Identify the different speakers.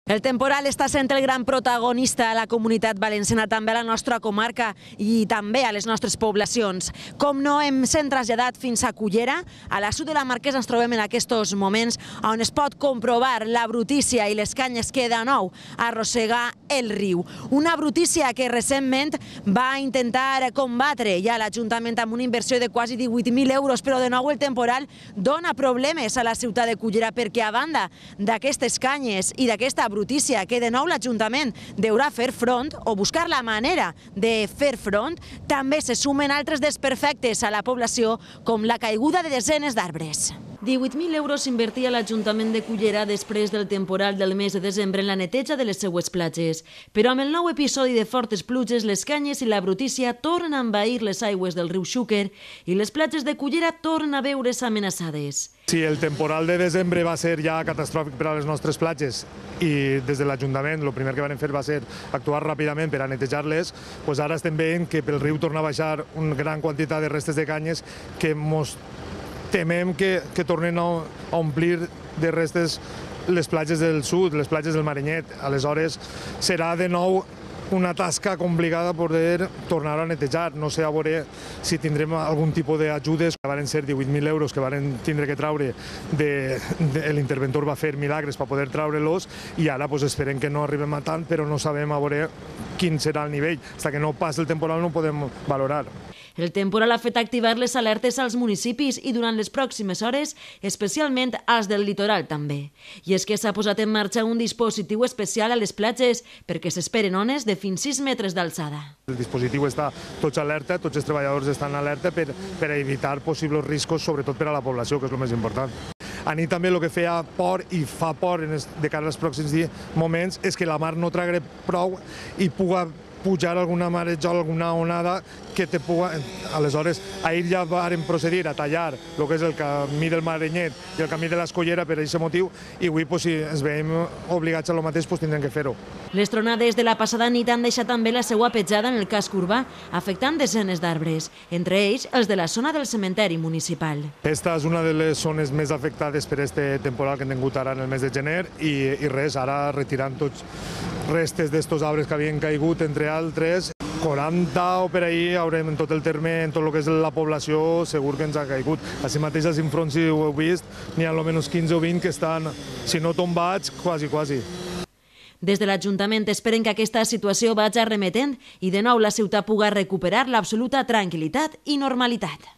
Speaker 1: El temporal està sent el gran protagonista a la comunitat valenciana, també a la nostra comarca i també a les nostres poblacions. Com no, hem sent traslladat fins a Cullera. A la sud de la Marquesa ens trobem en aquests moments on es pot comprovar la brutícia i les canyes que de nou arrossega el riu. Una brutícia que recentment va intentar combatre ja l'Ajuntament amb una inversió de quasi 18.000 euros, però de nou el temporal dona problemes a la ciutat de Cullera perquè a banda d'aquestes canyes i d'aquesta brutícia que de nou l'Ajuntament deurà fer front o buscar la manera de fer front, també se sumen altres desperfectes a la població com la caiguda de desenes d'arbres. 18.000 euros invertia l'Ajuntament de Cullera després del temporal del mes de desembre en la neteja de les seues platges. Però amb el nou episodi de fortes pluges, les canyes i la brutícia tornen a envair les aigües del riu Xúquer i les platges de Cullera tornen a veure's amenaçades.
Speaker 2: Si el temporal de desembre va ser ja catastròfic per a les nostres platges i des de l'Ajuntament el primer que vam fer va ser actuar ràpidament per a netejar-les, doncs ara estem veient que pel riu torna a baixar una gran quantitat de restes de canyes que ens temem que tornen a omplir de restes les platges del sud, les platges del Marenyet. Aleshores, serà de nou una tasca complicada poder tornar a netejar. No sé a veure si tindrem algun tipus d'ajudes. Van ser 18.000 euros que van tindre que traure, l'interventor va fer milagres per poder traure-los i ara esperem que no arribem a tant, però no sabem a veure quin serà el nivell. Fins que no passi el temporal no ho podem valorar.
Speaker 1: El temporal ha fet activar les alertes als municipis i durant les pròximes hores, especialment als del litoral també. I és que s'ha posat en marxa un dispositiu especial a les platges perquè s'esperen ones de fins 6 metres d'alçada.
Speaker 2: El dispositiu està tots alerta, tots els treballadors estan alerta per evitar possibles riscos, sobretot per a la població, que és el més important. A mi també el que feia por i fa por de cara als pròxims moments és que la mar no tragui prou i pugui pujar alguna marejol, alguna onada que te puga... Aleshores, ahir ja vàrem procedir a tallar el que és el camí del Marenyet i el camí de l'Escollera per aquest motiu i avui, si ens veiem obligats a lo mateix, tindrem que fer-ho.
Speaker 1: Les tronades de la passada nit han deixat també la seva petjada en el casc urbà, afectant desenes d'arbres, entre ells els de la zona del cementeri municipal.
Speaker 2: Esta és una de les zones més afectades per aquest temporal que hem tingut ara en el mes de gener i res, ara retirant tots restes d'estos arbres que havien caigut, entre altres, 40 o per ahir haurem en tot el terme, en tot el que és la població, segur que ens ha caigut. Així mateix als infronts, si ho heu vist, n'hi ha almenys 15 o 20 que estan, si no tombats, quasi.
Speaker 1: Des de l'Ajuntament esperen que aquesta situació vagi remetent i de nou la ciutat pugui recuperar l'absoluta tranquil·litat i normalitat.